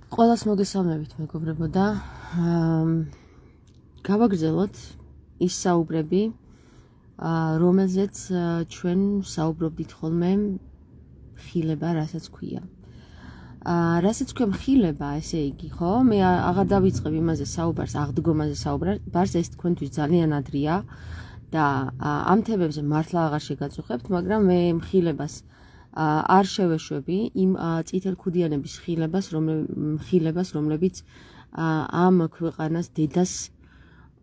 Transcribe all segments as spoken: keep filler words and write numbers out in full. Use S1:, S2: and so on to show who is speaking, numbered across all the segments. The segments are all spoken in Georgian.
S1: Ყველას მოგესალმებით, მეგობრებო და გავაგრძელოთ ის საუბრები, რომელზეც ჩვენ საუბრობდით ხოლმე ხილება, რასაც ქვია. რასაც ქვია ხილება, ესე იგი, ხო? მე აღარ დავიწყებ იმაზე საუბარს, აღდგომაზე საუბარს, ეს თქვენთვის ძალიან ადრეა და ამ თემებზე მართლა აღარ შეგაწუხებთ, მაგრამ მე ხილებას არ შევეშვები იმ წითელქუდიანების ხილებას, ხილებას, რომლებიც ამ ქვეყანას დედას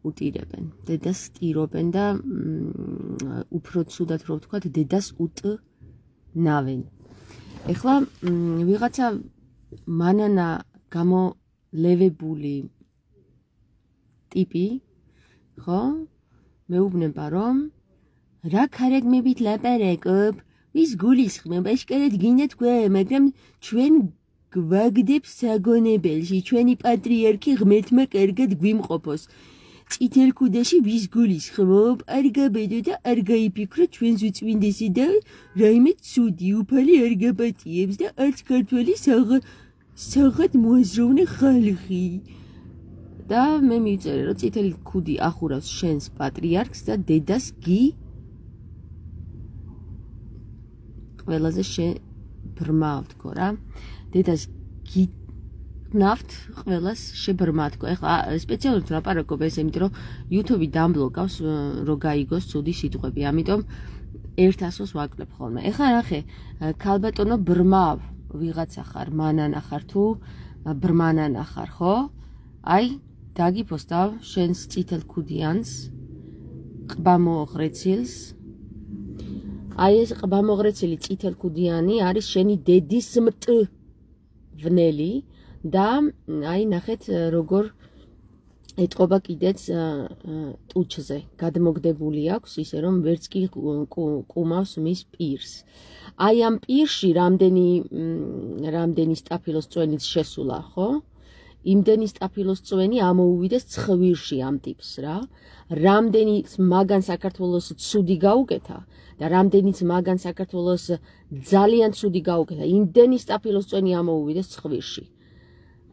S1: უტირებენ, დედას ტირობენ და უფრო ცუდად რო ვთქვათ, დედას უტნავენ. ეხლა ვიღაცა მანანა გამოლევებული ტიპი, ხო? მეუბნება რომ რა ქარაგმებით ლაპარაკობ, ვის გულისხმობ, აშკარად გინდა თქვა, მაგრამ ჩვენ გვაგდებს საგონებელში, ჩვენი პატრიარქი ღმერთმა კარგად გვიმყოფოს. წითელქუდაში ვის გულისხმობ, არ გაბედო და არ გაიფიქრო ჩვენს უწმინდესი და რაიმე ცუდი უფალი არ გაპატიებს და არც ქართველი საღად მოაზროვნე ხალხი. და მე მივწერე, რომ წითელქუდი ახურავს შენს პატრიარქს და დედას გი ყველაზე შებრმავ თქო რა. დედას გიგნავთ, ყველას შებრმა თქო. ეხლა სპეციალურად ლაპარაკობ ეს, იმიტომ რომ YouTube-ი დამბლოკავს, რომ გაიგოს ცუდი სიტყვები. ამიტომ ერთ ასოს ვაკლებ ხოლმე. ეხლა ნახე, ქალბატონო ბრმავ, ვიღაცა ხარ, მანანა ხარ თუ ბრმანანა ხარ, ხო? აი, დაგიფოსტავ შენს წითელქუდიანს, ყბამოღრეცილს. აი ეს ყბამოღრეცილი წითელქუდიანი არის შენი დედის მტვნელი და აი ნახეთ როგორ ეტყობა კიდეც ტუჩზე. გადმოგდებული აქვს ისე რომ ვერც კი ყუმავს მის პირს. აი ამ პირში რამდენი რამდენი სტაფილოს წვენიც შესულა, ხო? იმდენი სტაფილოს წვენი ამოუვიდეს ცხვირში ამ ტიპს რა. რამდენიც მაგან საქართველოს ცუდი გაუკეთა და რამდენიც მაგან საქართველოს ძალიან ცუდი გაუკეთა, იმდენი სტაფილოს წვენი ამოუვიდეს ცხვირში.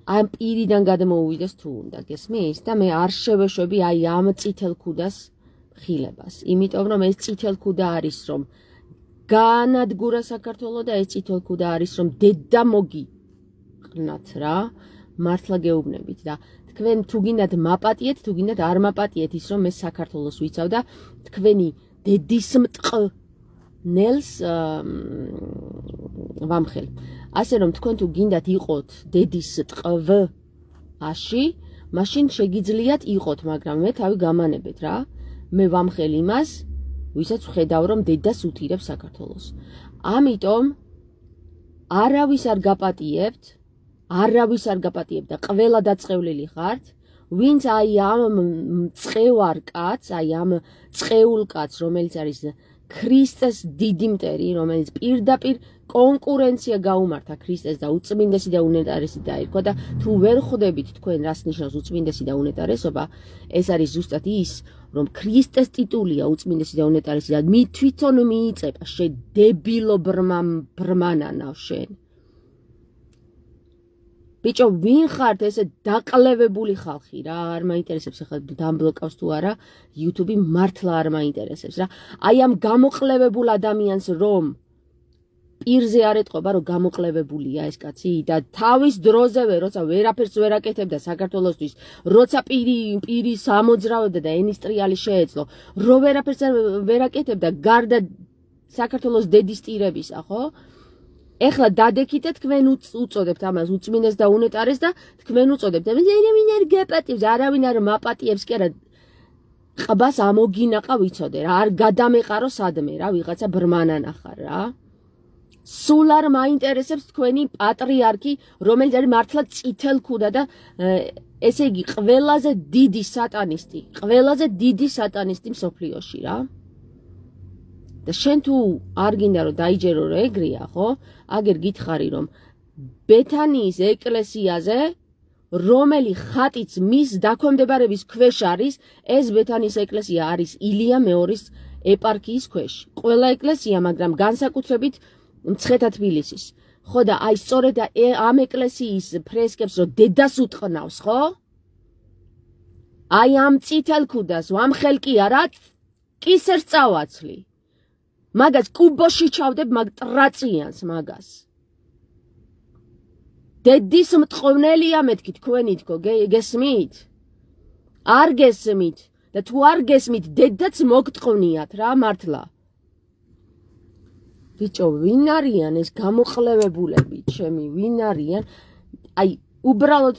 S1: ამ პირიდან გადმოუვიდეს თუ უნდა, გესმის? და მე არ შევეშვები აი ამ წითელქუდას ხილებას. იმიტომ რომ ეს წითელქუდა არის რომ განადგურა საქართველო და ეს წითელქუდა არის რომ დედა მოგიყნათ რა. მართლა გეუბნებით და თქვენ თუ გინდათ მაპატიეთ, თუ გინდათ არ მაპატიეთ ის რომ მე საქართველოს ვიცავ და თქვენი დედის მტყნელს ვამხელ. ასე რომ თქვენ თუ გინდათ იყოთ დედის ტყვაში, მაშინ შეგიძლიათ იყოთ, მაგრამ მე თავი გამანებეთ რა. მე ვამხელ იმას, ვისაც ვხედავ რომ დედას უთირებს საქართველოს. ამიტომ არავის არ გაპატიებთ, არავის არ გაპატიებთ და ყველა დაწყევლილი ხართ, ვინც აი ამ მწყევარ კაცს, აი ამ წყეულ კაცს, რომელიც არის ქრისტეს დიდი მტერი, რომელიც პირდაპირ კონკურენცია გაუმართა ქრისტეს და უწმინდესი და უნეტარესი დაირქვა და თუ ვერ ხვდებით თქვენ რას ნიშნავს უწმინდესი და უნეტარესობა, ეს არის ზუსტად ის, რომ ქრისტეს ტიტულია უწმინდესი და უნეტარესი და მი თვითონ მიიწება შედებილო ბრმანანავ შენ. ბიჭო, ვინ ხართ ესე დაყლევებული ხალხი რა, არ მაინტერესებს ახლა დამბლოკავს თუ არა, YouTube-ი მართლა არ მაინტერესებს რა. აი ამ გამოყლევებულ ადამიანს რომ პირზე არ ეტყობა, რომ გამოყლევებულია ეს კაცი და თავის დროზევე, როცა ვერაფერს ვერ აკეთებდა საქართველოსთვის, როცა პირი პირი სამოძრავებდა და ენის ტრიალი შეეძლო, რო ვერაფერს ვერ აკეთებდა გარდა საქართველოს დედის ტირებისა, ხო? ეხლა დადექით და თქვენ უწოდებთ ამას უწმინდეს და უნეტარეს და თქვენ უწოდებთ. არავინ არ გაპატიებს, არავინ არ მაპატიებს, კი არა. ყბას ამოგინაყა ვიცოდე რა, არ გადამეყარო სადმე რა, ვიღაცა ბრმანანა ხარ რა. სულ არ მაინტერესებს თქვენი პატრიარქი, რომელიც არის მართლა წითელქუდა და ესე იგი ყველაზე დიდი სატანისტი, ყველაზე დიდი სატანისტი მსოფლიოში რა. და შენ თუ არ გინდა რომ დაიჯერო რა ეგრეა, ხო? აგერ გითხარი რომ ბეთანიის ეკლესიაზე რომელი ხატიც მის დაქვემდებარების ქვეშ არის, ეს ბეთანიის ეკლესია არის ილია მეორის ეპარქიის ქვეშ. ყველა ეკლესია, მაგრამ განსაკუთრებით მცხეთა თბილისის. ხო და აი სწორედ ამ ეკლესიის ფრესკებს რო დედას უტყნავს, ხო? აი ამ წითელ ქუდას ვამხელ კი არა კისერს წავაცლი. მაგას კუბოში ჩავდებ მაგ ტრაწიანს მაგას. დედის მტყვნელია მეთქი თქვენი თქო გესმით? არ გესმით და თუ არ გესმით დედაც მოგტყვნიათ რა მართლა. ბიჭო ვინ არიან ეს გამოყლევებულები ჩემი ვინ არიან? აი უბრალოდ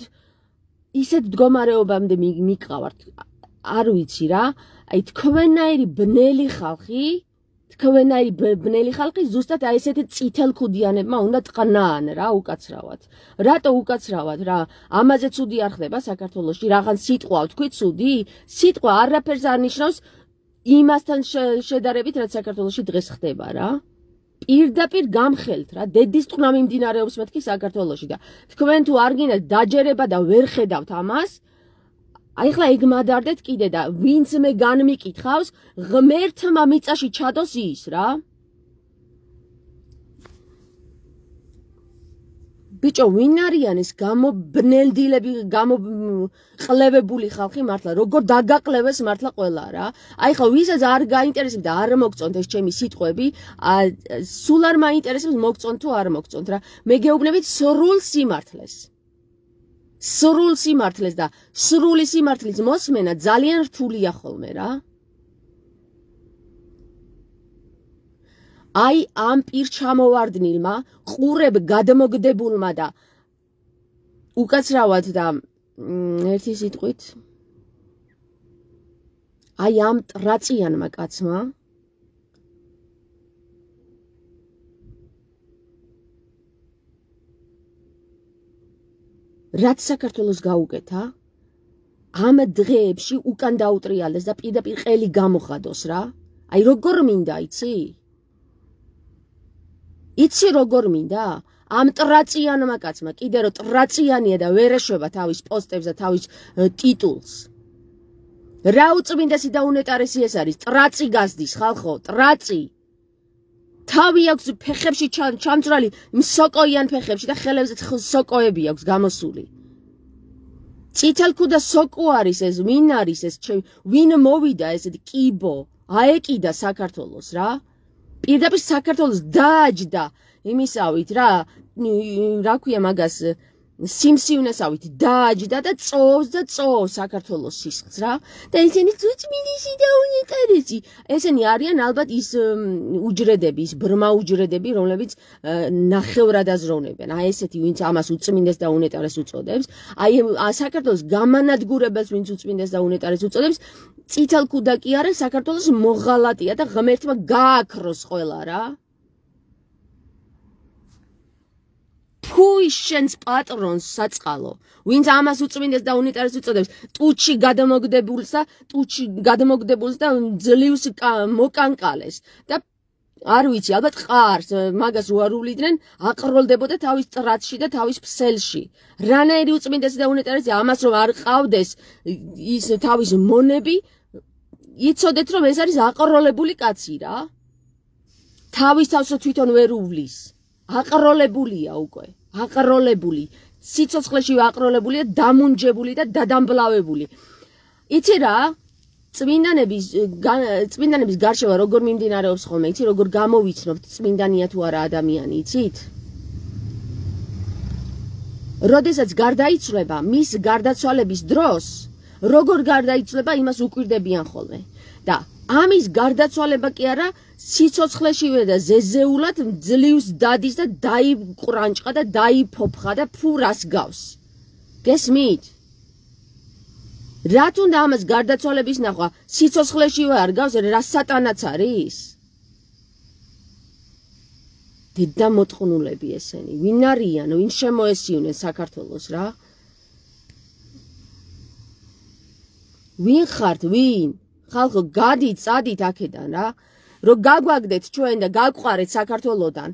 S1: ისეთ მდგომარეობამდე მიყავართ არ ვიცი რა აი თქვენაირი ბნელი ხალხი თქვენაირი ბნელი ხალხი ზუსტად აი ესეთი წითელ ქუდიანებმა უნდა ტყნაან რა უკაცრავად რატო უკაცრავად რა ამაზე ცუდი არ ხდება საქართველოში რაღაც სიტყვა თქვი ცუდი სიტყვა არაფერს არ ნიშნავს იმასთან შედარებით რაც საქართველოში დღეს ხდება რა პირდაპირ გამხელთ რა დედის ტყნა მიმდინარეობს მეთქი საქართველოში და თქვენ თუ არ გინდათ დაჯერება და ვერ ხედავთ ამას აი ხლა ეგ მადარდეთ კიდე და ვინც მე განმიკითხავს ღმერთმა მიწაში ჩადოს ის რა ბიჭო ვინ არიან ეს გამობნელდილები გამოყლევებული ხალხი მართლა როგორ დაგაყლევეს მართლა ყველა რა აი ხა ვისაც არ გაინტერესებს და არ მოგწონთ ეს ჩემი სიტყვები სულ არ მაინტერესებს მოგწონთ თუ არ მოგწონთ რა მე გეუბნებით სრულ სიმართლეს სრულ სიმართლეს და სრული სიმართლის მოსმენა ძალიან რთულია ხოლმე რა აი ამ პირჩამოვარდნილმა ყურებ გადმოგდებულმა და უკაცრავად და ერთი სიტყვით აი ამ ტრაწიანმა კაცმა რაც საქართველოს გაუკეთა ამ დღეებში უკან დაუტრიალდეს და პირდაპირ ყელი გამოხადოს რა აი როგორ მინდა იცი იცი როგორ მინდა ამ ტრაწიანმა კაცმა კიდე რომ ტრაწიანია და ვერ ეშვება თავის პოსტებს და თავის ტიტულს რა უწმინდესი და უნეტარესი ეს არის ტრაწი გასდის ხალხო ტრაწი თავი აქვს ფეხებში ჩამწრალი სოკოიან ფეხებში და ხელებზე სოკოები აქვს გამოსული წითელ ქუდა სოკო არის ეს ვინ არის ეს ვინ მოვიდა ესეთი კიბო აეკიდა საქართველოს რა პირდაპირ საქართველოს დააჯდა იმისავით რა რა ქვია მაგას სიმსივნესავით დააჯდა და წოვს და წოვს საქართველოს სისხლს რა და ესენი უწმინდესი და უნეტარესი ესენი არიან ალბათ ის უჯრედები ის ბრმა უჯრედები რომლებიც ნახევრად აზროვნებენ აი ესეთი ვინც ამას უწმინდეს და უნეტარეს უწოდებს აი საქართველოს გამანადგურებელს ვინც უწმინდეს და უნეტარეს უწოდებს წითელ ქუდა კი არა საქართველოს მოღალატია და ღმერთმა გააქროს ყველა რა Who is შენს პატრონს საწყალო ვინც ამას უწმინდეს და უნიტარეს უწოდებს ტუჩი გადამოგდებულს და ტუჩი გადამოგდებულს და ძლივს მოკანკალეს და არ ვიცი ალბათ ყარს მაგას უარულიდნენ აყროლდებოდა თავის ტრაცში და თავის ფსელში რანაირი უწმინდესი და უნიტარესი ამას რომ არ ყავდეს ის თავის მონები იცოდეთ რომ ეს არის აყროლებული კაცი რა თავის თავსო თვითონ ვერ უვლის აყროლებულია უკვე აყროლებული სიცოცხლეში აყროლებულია დამუნჯებული და დადამბლავებული იცი რა წმინდანების წმინდანების გარშევა როგორ მიმდინარეობს ხოლმე იცი როგორ გამოვიცნობთ წმინდანია თუ არა ადამიანი იცით როდესაც გარდაიცვლება მის გარდაცვალების დროს როგორ გარდაიცვლება იმას უკვირდებიან ხოლმე და ამის გარდაცვალება კი არა სიცოცხლეშივე და ზეზეულად ძლივს დადის და დაიყრანჭყა და დაიფოფხა და ფურას გავს გესმით რათ უნდა ამას გარდაცვალების ნახვა სიცოცხლეშივე არ გავს რა სატანაც არის დედა მოტყნულები ესენი ვინ არიან ვინ შემოესიunen საქართველოს რა ვინ ხართ ვინ ხალხო გადით წადით აქედან რა რომ გაგვაგდეთ ჩვენ და გაგვყარეთ საქართველოდან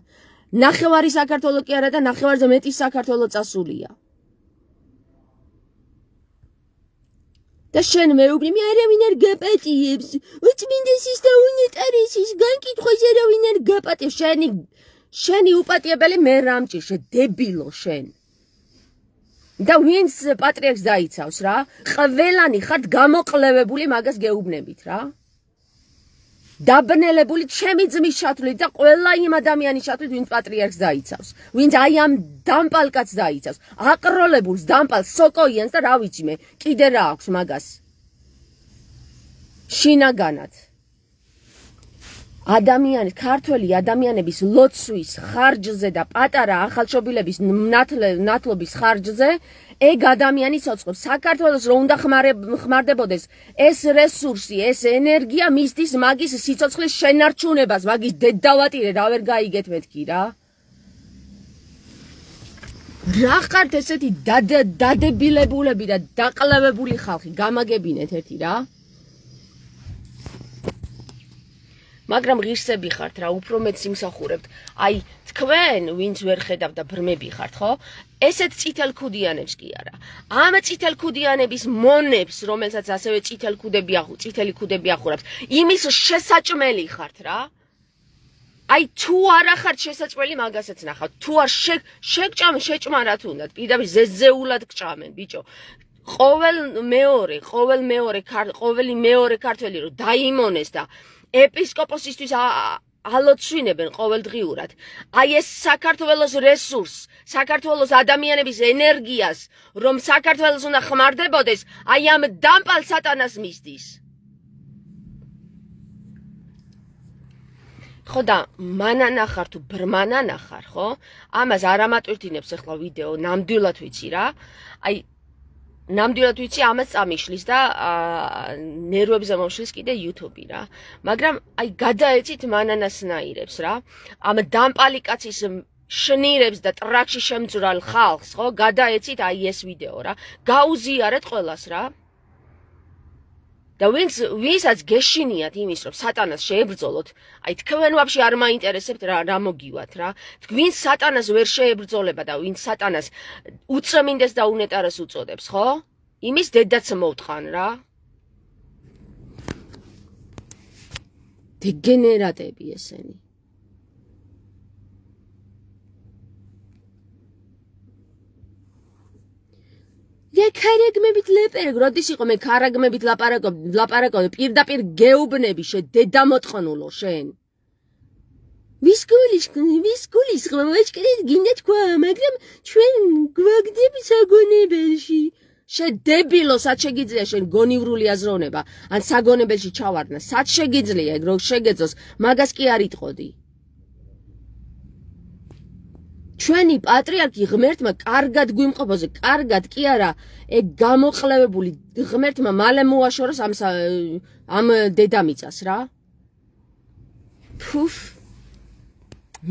S1: ნახევარი საქართველო კი არა და ნახევარზე მეტი საქართველო წასულია და შენ მეუბნები არავინ არ გაპატიებს უწმინდესის და უნეტარესის განკითხვაზე არავინ არ გაპატიებს შენი შენი უპატიებელი მე რამჭირ შე დებილო შენ და ვინც პატრიარქს დაიცავს რა ყველანი ხართ გამოყლევებული მაგას გეუბნებით რა დაბნელებული ჩემი ძმის შათვლით და ყველა იმ ადამიანის შათვლით ვინც პატრიარქს დაიცავს ვინც აი ამ დამპალკაც დაიცავს აყროლებულს დამპალს სოკოიანს და რა ვიცი მე კიდე რა აქვს მაგას შინაგანად ადამიანის ქართველი ადამიანების ლოცვის ხარჯზე და პატარა ახალშობილების ნათლობის ხარჯზე ეგ ადამიანი ცოცხლობს საქართველოს რო უნდა ხმარდებოდეს ეს რესურსი ეს ენერგია მისთვის მაგის სიცოცხლის შენარჩუნებას მაგის დედავატირე რა ვერ გაიგეთ მეთქი რა რა ხართ ესეთი დადებილებულები და დაყლევებული ხალხი გამაგებინეთ ერთი რა მაგრამ ღირსები ხართ რა უფრო მეც იმსახურებთ აი თქვენ ვინც ვერ ხედავთ და ბრმები ხართ ხო ესეთ წითელქუდიანებს კი არა ამ წითელქუდიანების მონებს რომელსაც ასევე წითელქუდები ახუ წითელი ქუდები ახურავს იმის შესაჭმელი ხართ რა აი თუ არა ხართ შესაჭმელი მაგასაც ნახავთ თუ არ შეგჭამ შეჭმა რა თუნდაც პირდაპირ ზეზეულად გჭამენ ბიჭო ყოველ მეორე ყოველ მეორე ყოველი მეორე ქართველი რო დაიმონეს და ეპისკოპოსისთვის ალოცვინებენ ყოველდღიურად. აი ეს საქართველოს რესურს, საქართველოს ადამიანების ენერგიას, რომ საქართველოს უნდა ხმარდებოდეს, აი ამ დამპალ სატანას მისდის. ხო და მანანახარ თუ ბრმანანახარ, ხო? ამას არ ამატვირთინებს ახლა ვიდეო, ნამდვილად ვიცი რა. აი ნამდვილად ვიცი ამას წამიშლის და ნერვებზე მომშლის კიდე YouTube რა. მაგრამ აი გადაეცით მანანასნაირებს რა. ამ დამპალი კაცის შნირებს და ტრაქში შემძვრალ ხალხს, ხო? გადაეცით აი ეს ვიდეო რა. გაუზიარეთ ყველას რა. და ვინც ვისაც გეშინიათ იმის რომ სატანას შეებრძოლოთ, აი თქვენ ვაფშე არ მაინტერესებთ რა რა მოგივათ რა. ვინც სატანას ვერ შეებრძოლება და ვინც სატანას უწმინდეს და უნეტარეს უწოდებს, ხო? იმის დედაც მოვტყან რა. დეგენერატები ესენი. Я карагმებით ლეპერგ, როდის იყო მე კარაგმებით ლაპარაკობ, ლაპარაკობ, პირდაპირ გეუბნები შე დედამოწყნულო შენ. ვის გულის, ვის გულის ღვაჭკრით გინდა თქვა, მაგრამ ჩვენ გვაგდები საგონებელში. შე დებილო, სად შეგიძლია შენ გონივრული აზროვნება, ან საგონებელში ჩავარდნა, სად შეგიძლია ეგ რო შეგეძოს, მაგას კი არ იტყოდი. ჩვენი პატრიარქი ღმერთმა კარგად გვიმყოფოზე, კარგად კი არა, ეგ გამოყლევებული ღმერთმა მალე მოაშოროს ამ ამ დედამიწას რა. ფუფ.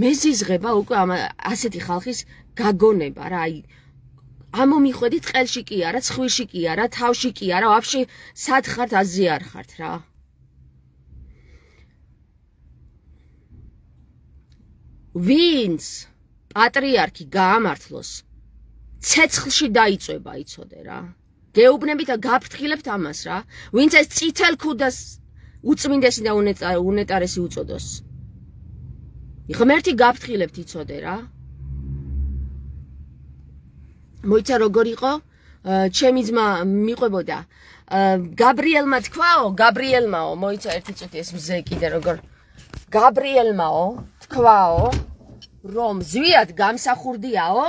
S1: მეზიზღება უკვე ამ ასეთი ხალხის გაგონება რა, აი ამომიხვედით ყელში კი არა, ცხვირში კი არა, თავში კი არა, ვაფშე სად ხართ აზი არ ხართ რა. ვინც პატრიარქი გაამართლოს ცეცხლში დაიწვება იცოდე რა. გეუბნებით და გაფრთხილებთ ამას რა. ვინც ეს წითელ ქუდას უწმინდესი და უნეტარესი უწოდოს. ღმერთი გაფრთხილებთ იცოდე რა. მოიცა როგორ იყო? ჩემი ძმა მიყვებოდა. გაბრიელმა თქვაო, გაბრიელმაო, მოიცა ერთი წუთი ეს მზე კიდე როგორ გაბრიელმაო, თქვაო რომ ზვიად გამსახურდიაო,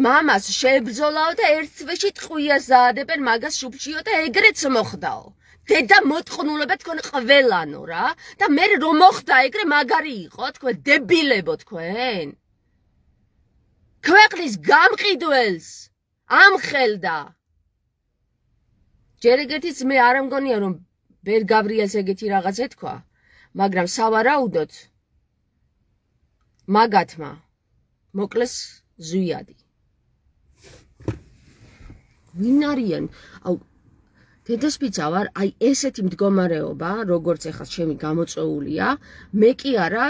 S1: მამას შეებრძოლაო და ერთ თვეში ტყვიას დაადებენ მაგას შუბშიო და ეგრეც მოხდაო. დედა მოტყნულება თქვენ ყველანო რა და მე რომ მოხდა ეგრე მაგარი იყო თქვენ დებილებო თქვენ. ქვეყნის გამყიდველს ამხელდა. ჯერ ეგეთიც მე არ მგონია რომ ბერ გაბრიელს ეგეთი რაღაც ეთქვა, მაგრამ სავარაუდოდ მაგათმა მოკლეს ზვიადი. ვინ არიან? აუ დედასპიცა ვარ, აი ესეთი მდგომარეობა, როგორც ეხლა ჩემი გამოწვეულია, მე კი არა,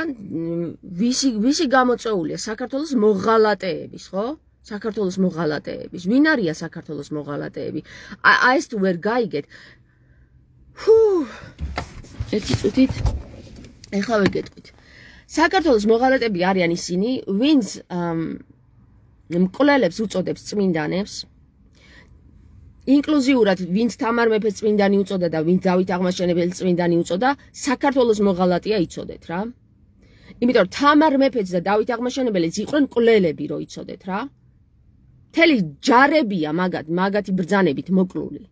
S1: ვისი ვისი გამოწვეულია? საქართველოს მოღალატეების, ხო? საქართველოს მოღალატეების. ვინ არიან საქართველოს მოღალატეები? აი ეს თუ ვერ გაიგეთ. ჰუ ერთი წუთით ეხლა ვეგეტყვით. საქართველოს მოღალატები არიან ისინი, ვინც მკვლელებს უწოდებს წმინდანებს. ინკლუზიურად ვინც თამარ მეფეს წმინდანი უწოდა და ვინც დავით აღმაშენებელი წმინდანი უწოდა, საქართველოს მოღალატეა იცოდეთ რა. იმიტომ თამარ მეფეც და დავით აღმაშენებელიც იყვნენ მკვლელები რო იცოდეთ რა. მთელი ჯარებია მაგათ, მაგათი ბრძანებით მოკლული.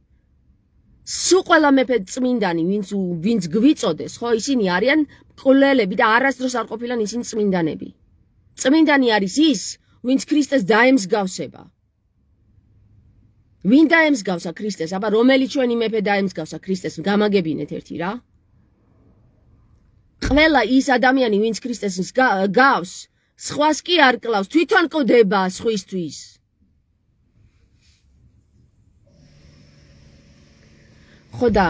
S1: სულ ყველა მეფე წმინდანი, ვინც ვინც გვიწოდეს, ხო, ისინი არიან მკვლელები და არასდროს არ ყოფილან ისინი წმინდანები. წმინდანი არის ის, ვინც ქრისტეს დაემსგავსება. ვინ დაემსგავსა ქრისტეს? აბა რომელი ჩვენი მეფე დაემსგავსა ქრისტეს? გამაგებინეთ ერთი რა. ყველა ის ადამიანი, ვინც ქრისტეს გავს, სხვას კი არ კლავს, თვითონ კლდება სხვისთვის. ხო და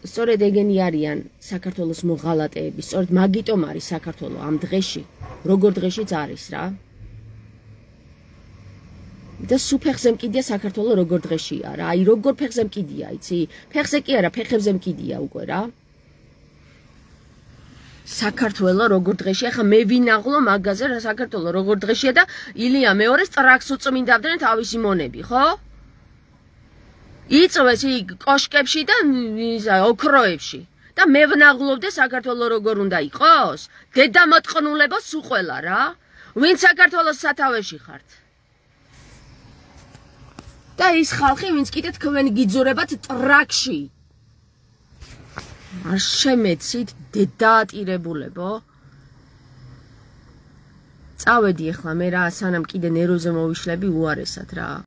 S1: სწორედ ეგენი არიან საქართველოს მოღალატეები, სწორედ მაგიტომ არის საქართველო ამ დღეში, როგორ დღეშიც არის რა. და სულ ფეხზე მკიდია საქართველო როგორ დღეშია რა, აი როგორ ფეხზე მკიდია, იცი? ფეხზე კი არა, ფეხებზე მკიდია უკვე რა. საქართველო როგორ დღეშია, ხა მე ვინაღლო მაგაზე რა საქართველო როგორ დღეშია და ილია მეორეს ტრაქს უწმინდავდნენ თავისი მონები, ხო? იწვეს იქ კოშკებში და ოქროებში და მე ვნაღლობდე საქართველო როგორ უნდა იყოს? დედა მოტყნულებო სულ ყველა რა. ვინ საქართველოს სათავეში ხართ? და ის ხალხი, ვინც კიდე თქვენ გიძურებათ ტრაქში. არ შემეცით დედაატირებულებო. წავედი ახლა მე რა, სანამ კიდე ნერვზე მოვიშლები უარესად რა.